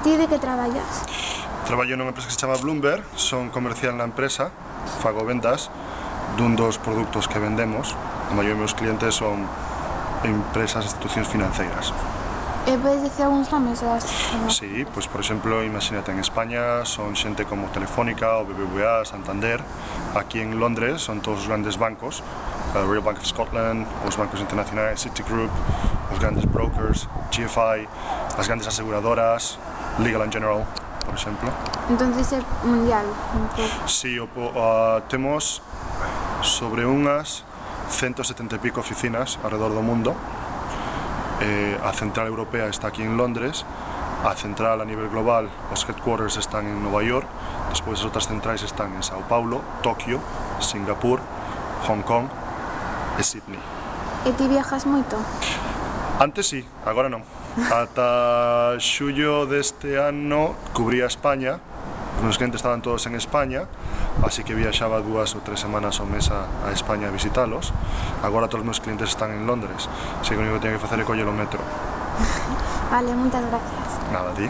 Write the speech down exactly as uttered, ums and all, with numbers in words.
Ti de que traballas? Traballo nunha empresa que se chama Bloomberg, son comercial na empresa, fago vendas dun dos produtos que vendemos. A maioría dos meus clientes son empresas e institucións financeiras. E podes dicir algúns nomes das? Sí, pois por exemplo, imagínate, en España son xente como Telefónica, o B B V A, Santander. Aquí en Londres son todos os grandes bancos, a Royal Bank of Scotland, os bancos internacionais, Citigroup, os grandes brokers, G F I, as grandes aseguradoras, Legal and General, por exemplo. Entonces é mundial, un pouco. Si, o, uh, temos sobre unhas ciento setenta e pico oficinas alrededor do mundo. Eh, a central europea está aquí en Londres, a central a nivel global, os headquarters están en Nova York, despois as outras centrais están en Sao Paulo, Tokio, Singapur, Hong Kong e Sydney. E ti viajas moito? Antes sí, agora non. Ata xullo deste ano cubría España, os meus clientes estaban todos en España, así que viaxaba dúas ou tres semanas ao mes a, a España a visitalos. Agora todos os meus clientes están en Londres, así que o único que teño que facer é coller o metro. Vale, moitas gracias. Nada, a ti.